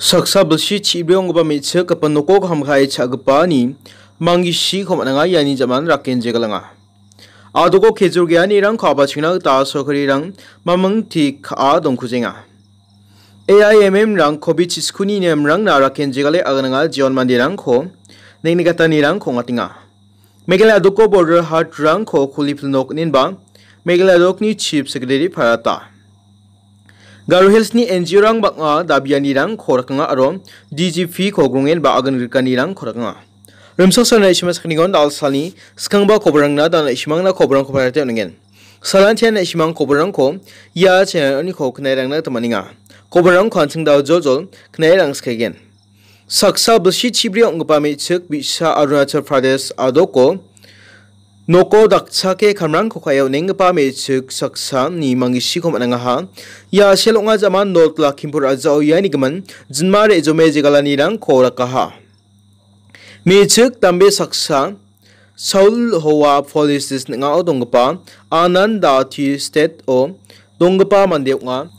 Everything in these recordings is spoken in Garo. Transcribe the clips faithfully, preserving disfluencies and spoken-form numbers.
Saksa bilsi chibri onggipa me·chik gipin noko kam ka·e cha·gipani manggishiko man·enga, iani jaman rakenjegalenga. Adoko kejur geanirangko abachingna gita sorkarirang mamingti ka·a dongkujenga. A I M M rang covid chiskuni nemrangna rakenjegale agananga jeon manderangko neng·nigatanirangko ong·atenga. Meghalaya doko border hatrangko kulipil nok ninba Meghalaya dokni chief secretary parata. Garo Hillsni N G O rang bang·a dabianirangko rakanga aro D G P ko grongen ba agan grikanirangko rakanga. Rimsak sana ishima sakningon dal salni skangba kobrangna dan ishimangna kobrangko parate oningen. Salantian ishimang kobrangko ia channel oniko knairangna tamaninga. Kobrangko an·ching dal jol jol knairang skegen. Saksa bilsi chibri ong·gipa me·chik bi·sa Arunachal Pradesh adoko noko dakchake kamrangko ka·e on·enggipa me·chik saksani manggishiko man·angaha. Ia sel ong·a jaman North Lakhimpur a·jao iani gimin jinma re·jome jegalanirangko rakaha. Me·chik dambe saksa Saul Hoa Police District ning·ao donggipa Ananda Tea Estate-o donggipa mande ong·a.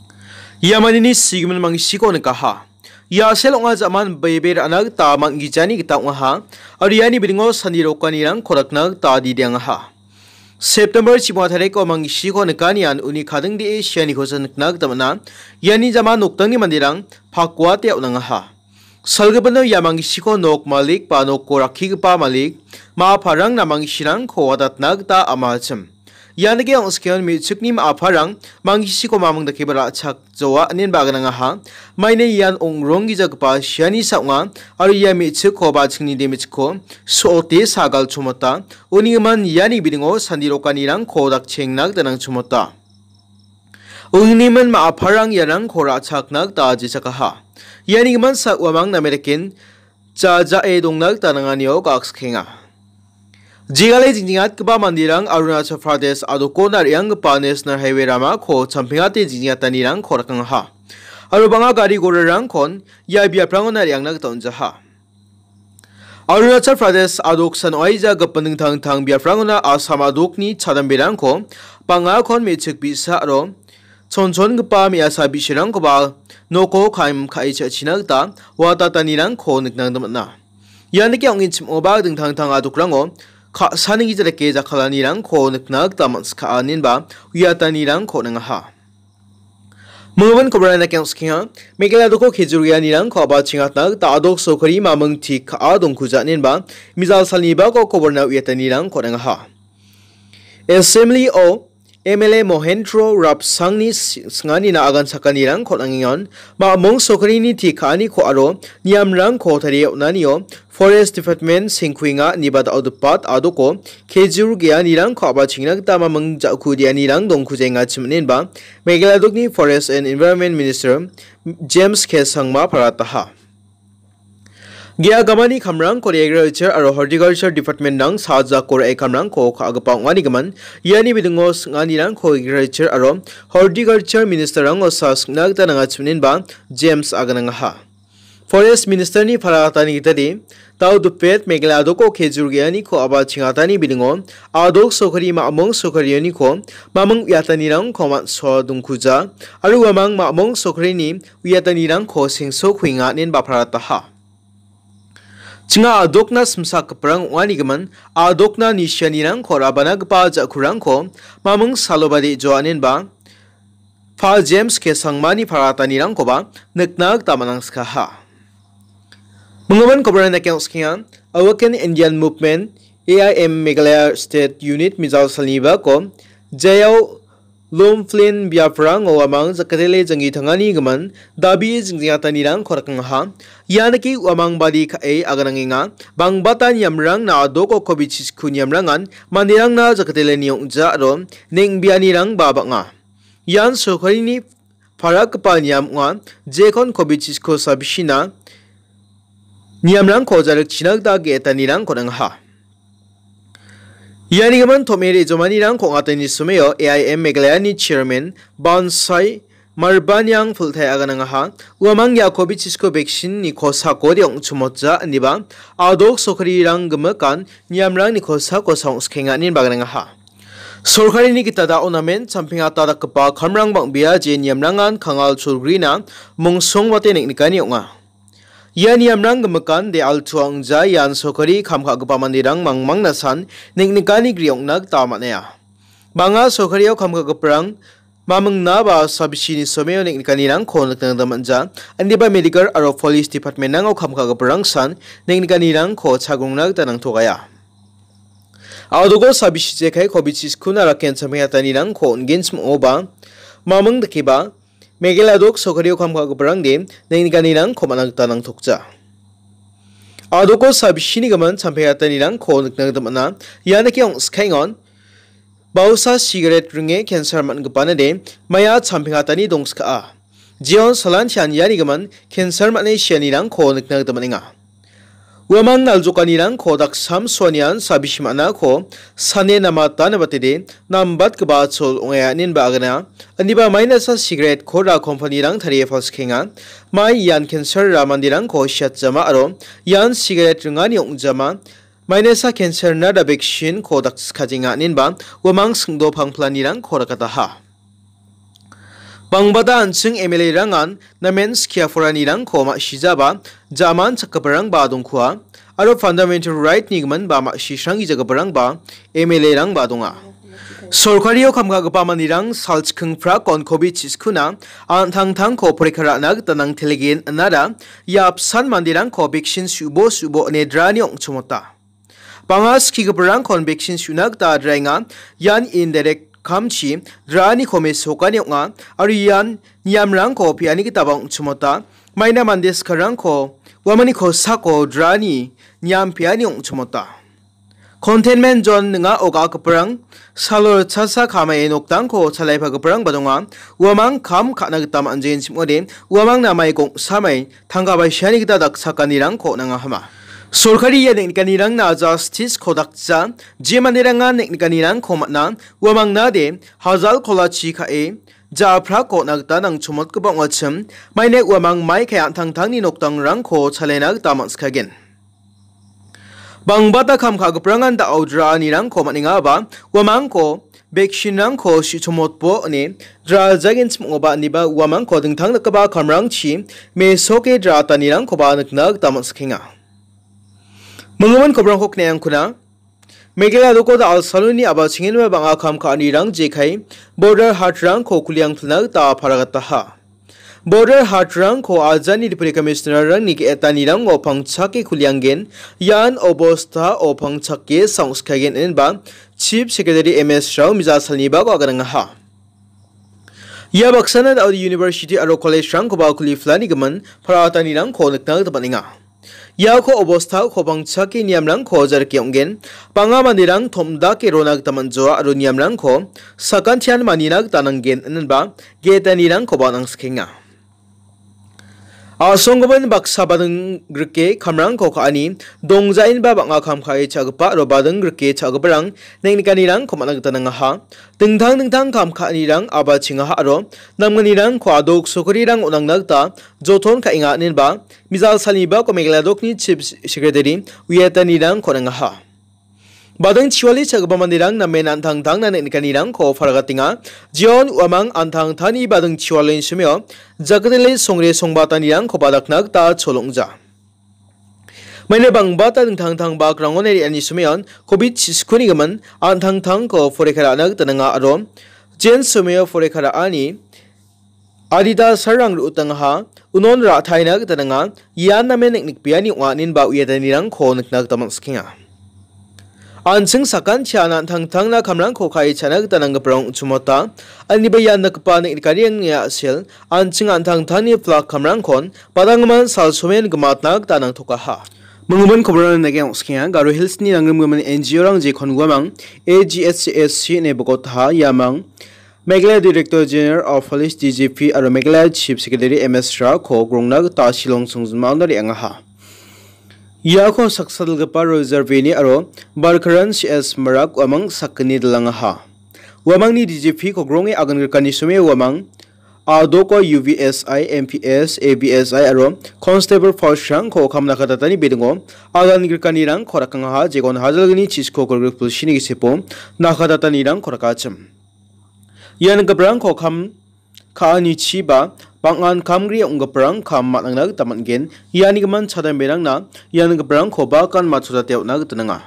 Ia mandeni sigimin manggishiko nikaha. Ia sel ong·a jaman bebe ra·na gita man·gijani gita ong·aha. Aro iani bidingo sandi rokanirangko rakna gita dideangaha. September chibima tariko manggishiko nikanian uni kadingdee sianikosa nikna gita man·a. Iani jaman noktangni manderang pakuate on·angaha. Salgipino ia manggishiko nok malik ba noko rakkigipa malik, ma·aparangna manggishirangko watatna gita ama·achim. Ian dake ong·skengon me·chikni ma·aparang manggishiko maming dakeba ra·chakjawa inenba aganangaha. Maina ian ong·ronggijagipa siani sa ong·a, aro ia me·chikko ba chingni de me·chikko so·ote sagal chomota. Uni gimin iani bidingo sandi rokanirangko dakchengna gita nangchomota. Uni gimin ma·aparang iarangko ra·chakna gita jechakaha. Iani gimin sa uamang name daken jajae dongna gita nanganio gakskenga. Jegale jingjengatgipa manderang Arunachal Pradesh adokona re·anggipa National Highway ramako champengate jingjengatanirangko rakangaha. Aro bang·a gari gorarangkon ia biaprangona re·angna gita on·jaha. Arunachal Pradesh adoksan ong·aija gipin dingtang dingtang biaprangona Assam adokni chadamberangko bang·akon me·chik bi·sa aro chonchongipa me·asa bi·sarangkoba noko kam ka·e cha·china gita watatanirangko nikna gita man·a. Ian dake ong·e chim·oba dingtang dingtang adokrango ka·sani gita dake jakkalanirangko nikna gita man·skaa inenba uiatanirangko on·angaha. Minggimin kobrana dake ong·skenga. Meghalaya doko kejurianirangko abachengatna gita adok sorkari maming ti ka·a dongkuja inenba mijal salni bako koborna uiatanirangko on·angaha. Assembly-o M L A Mohendro Rapsangni si-, singanina agan sakanirangko on·angengon, mamung sorkarini ti ka·aniko aro niamrangko tarie on·anio Forest Department sengkuenga ineba da·o dipat adoko kejur geanirangko abachengna gita maming ja·ku dianirang dongkujengachim inenba Meghalaya dokni Forest and Environment Minister James K Sangma parataha. Ge·a gamani kamrangko Agriculture aro Horticulture Department-rang sajako ra·e kamrangko ka·gipa ong·anigimin, iani bidingo sing·anirangko Agriculture aro Horticulture Minister-rango sa sing·na gita nangachim inenba James aganangaha. Forest Minister-ni paraatani gitade, dao dipet Meghalaya adoko kejur ge·aniko abachengatani bidingo, adok sorkari ma·mung sorkarioniko maming uiatanirangko man·soa dongkuja, aro uamang ma·mung sorkarini uiatanirangko sengsokuenga inenba parataha. Chinga adokna simsakgiparang ong·anigimin, adokna nisianirangko rabanagipa ja·kurangko maming saloba de·joa inenba Pa James K Sangmani paratanirangkoba nikna gita man·angskaha. Minggimin kobrang dake ong·skenga, Awaken Indian Movement, A I M Meghalaya State Unit mijal salnibako, Jayao Lomflin biaprango uamang jakatele janggi tangani gimin, dabi jingjangatanirangko rakangaha. Ianaki uamang badi ka·e aganangenga, bangbata niamrangna adoko kobichisko niamrangan manderangna jakateleni ong·ja aro neng·bianirangba bang·a. Ian sorkarini parakgipa niam ong·a, jekon kobichisko sabisina niamrangko jarikchina gita ge·etanirangko on·angaha. Iani gimin tom·e re·jomanirangko ong·atani someo A I M Meghalayani Chairman Bansai Marbaniang pultai aganangaha, uamang ia kobichisko vaccine-ni kosako de ong·chimotja ineba adok sorkarirang gimikan niamrangni kosako saongskenga ineba aganangaha. Sorkarini gita da·o namen champengata dakgipa kamrang bang·bea je niamrangan kangal cholgrina mongsongbate neng·nikani ong·a. Ia niamrang gimikan de altua ong·ja, ian sorkari kam ka·gipa manderang mangmangna san neng·nikani gri ong·na gita man·aia. Bang·a sorkario kam ka·giparang mamingna ba sabisini someo neng·nikanirangko nikna gita man·ja, indiba medical aro police department-rango kam ka·giparang san neng·nikanirangko chagrongna gita nangtokaia. Adoko sabisi jekai covid chiskuna raken champeng hatanirangko on·genchim ong·oba, maming dakeba, Meghalaya dok sorkario kam ka·giparangde neng·nikanirangko man·a gita nangtokja. Adoko sabisini gimin champeng hatanirangko nikna gita man·a. Ia dake ong·skaengon, bausa sigaret ringe cancer man·gipanade maia champeng hatani dongskaa. Jeon salantian iani gimin cancer man·e sianirangko nikna gita man·enga. Uamang naljokanirangko daksam suanian sabisi man·ako sane namata nabatede nambatgipa chol ong·aia inenba agana. Indiba mainasa sigaret koda kompanirang tarie palsikenga. Mai ian cancer-ra manderangko siatjama aro ian sigaret ringani ong·jama. Mainasa cancer-na da vaccine-ko dakskajenga inenba uamang singdo pangplanirangko rakataha. Bangbata an·ching M L A-rangan namen skia poranirangko ma·sijaba jaman chakgiparangba dongkua, aro fundamental right-ni gimin ba ma·sisranggijagiparangba M L A-rangba donga. Sorkario kam ka·gipa manderang salchikking prakon covid chiskuna an·tangtangko porikha ra·na gita nangteligen inara ia apsan manderangko vaccine su·bo su·bo ine drani ong·chomota. Bang·a skigiparangkon vaccine su·na gita draenga. Ian indirect kamchi draaniko mesokani ong·a, aro ian niamrangko pe·ani gitaba ong·chimota. Maina mande skarangko uamangni kosako draani niam pe·ani ong·chimota. Containment zone ning·a ogagiparang salo ritchasa kamae nokdangko chalaipagiparangba donga. Uamang kam ka·na gita man·jengchim ong·ode, uamang namai gongsamai tangka baisiani gita dakchakanirangko nangahama. Sorkari ia neng·nikanirangna justice-ko dakja, je manderangan neng·nikanirangko man·a, uamangnade hajal kolachi ka·e ja·aprako on·a gita nangchomotgipa ong·achim, maine uamang mai kae an·tangtangni nokdangrangko chalena gita man·sikagen. Bangbata kam ka·giprangan da·o draanirangko man·engaba, uamangko vaccine-rangko su·chomotbo ine draajagenchim ong·oba, indiba uamangko dingtang dakgipa kamrangchi mesoke draatanirangkoba nikna gita man·sikenga. Minggimin kobrangko kneangkuna, Meghalaya doko da·al saloni aba chingenba bang·a kam ka·anirang jekai border hatrangko kuliang pilna gita paragataha. Border hatrangko ajani Deputy Commissioner-rangni ge·etanirango pangchake kulianggen, ian obostao pangchake sangsikagen inenba Chief Secretary M S Rao mija salnibako aganangaha. Ia baksana da·ode university aro college-rangkoba kuliflani gimin paratanirangko nikna gita man·enga. Iako obostako pangchake niamrangko jarike ong·gen. Bang·a manderang tom·dake rona gita man·joa aro niamrangko sakantian manina gita nanggen, inenba ge·etanirangkoba nangsikenga. A·songgimin baksa bading grike kamrangko ka·ani dongjaenba bang·a kam ka·e cha·gipa aro bading grike cha·giparang neng·nikanirangko man·a gita nangaha. Dingtang dingtang kam ka·anirang aba chingaha aro namgnirangko adok sokarirang on·angna gita joton ka·enga inenba mijal salnibako Meghalaya dokni Chief Secretary uiatanirangko nangaha. Bading chiwali cha·gipa manderang namen an·tangtangna neng·nikanirangko paragatenga. Jeon uamang an·tangtangni bading chiwalini somio jakdele songre songbatanirangkoba dakna gita cholongja. Maina bangbata dingtang dingtang bakrangoni re·ani someon covid chiskuni gimin an·tangtangko porikha ra·na gita nanga aro jen someo porikha ra·ani adita sarang ru·utangaha, unon ra·taina gita nanga, ian namen neng·nikbeani ong·a, inenba uiatanirangko nikna gita man·sikenga. An·ching sakantian an·tangtangna kamrangko ka·e cha·na gita nanggiparang ong·chimota, aniba ian nikgipa neng·nikanirangni a·sel, an·ching an·tangtangni plak kamrangkon badanggimin salsomen gimatna gita nangtokaha. Minggimin kobrangna nage ong·sikenga, Garo Hills-ni nangrimgimin N G O-rang jekon guamang A G S C S C ine bogotaha, iamang Meghalaya Director General of Police, D G P, aro Meghalaya Chief Secretary M S Rao-ko grongna gita Shillong songjinmaona re·angaha. Iako saksa dal·gipa Roger Veni aro Barkaran C S Marak uamang sakgni dalangaha. Uamangni D G P-ko gronge agangrikani some uamang, a·doko U V S I, M P S, A V S I aro Constable Force-rangko kam nakatatani bidingo agangrikanirangko rakangaha, jegon hajalgni chisko kolgrik pulsini gisepo nakatatanirangko rakachim. Ian giprangko kam ka·anichiba bang·an kamgri ong·giparang kam man·angna gita man·gen. Ianigimin chadenberangna ianigiparangko bakan matchotate on·a gita nanga.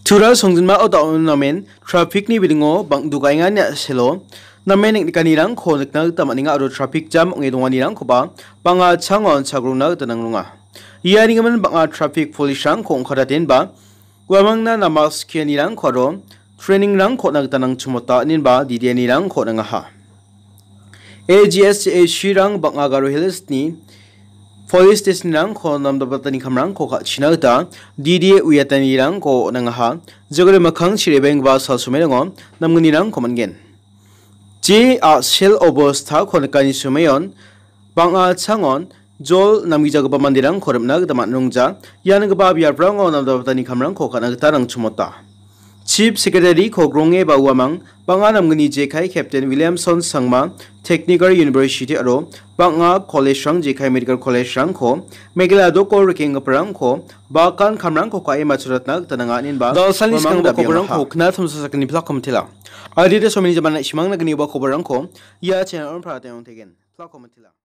Tura songjinmao da·o namen traffic-ni bidingo bang·, dogaengani a·selo namen neng·nikanirangko nikna gita man·enga aro traffic jam ong·e donganirangkoba bang·a changon chagrona gita nangrunga. Ianigimin bang·a traffic police-rangko ong·katatenba uamangna nama skianirangko aro training-rangko on·a gita nangchimota, inenba D D A-nirangko on·angaha. A G S A C-rang bang·a Garo Hills-ni police station-rangko namdapatani kamrangko ka·china gita D D A uiatanirangko on·angaha. Jagre mikkang chiribenggipa salsomerango namgnirangko man·gen. Je a·sel obostako nikani somoion bang·a changon jol namgijagipa manderangko rim·na gita man·rongja. Ianigipa biaprango namdapatani kamrangko ka·na gita rangchimota. Chief Secretary-ko grongeba uamang bang·a namgni jekai Captain Williamson Sangma, Technical University aro bang·a college-rang jekai Medical College-rangko Meghalaya doko rikenggiparangko bakan kamrangko ka·e matchotatna gita nanga, inenba dalsalni uamang skanggipa dabiangaha. Kobarangko kna tamsa sakgni plak komitela. Adita someni jaman na·simang nagniba kobarangko ia channel-on prate ong tegen. Plak komitela.